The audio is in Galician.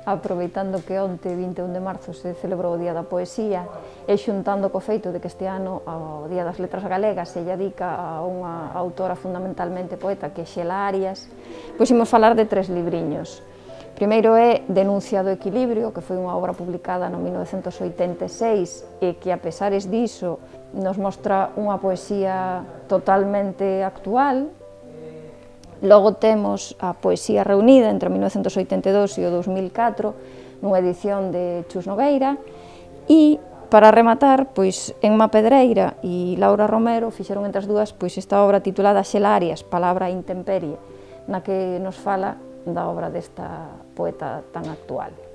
aproveitando que onte, 21 de marzo, se celebrou o Día da Poesía, e xuntando co feito de que este ano, ao Día das Letras Galegas, se dedica a unha autora fundamentalmente poeta, que é Xela Arias, pois imos falar de 3 libriños. Primeiro é Denuncia do Equilibrio, que foi unha obra publicada no 1986 e que, a pesares diso, nos mostra unha poesía totalmente actual. Logo temos a Poesía Reunida entre 1982 e o 2004, nunha edición de Chus Nogueira, e, para rematar, pois, Enma Pedreira e Laura Romero fixeron entre as dúas pois esta obra titulada Xela Arias, Palabra e Intemperie, na que nos fala da obra desta poeta tan actual.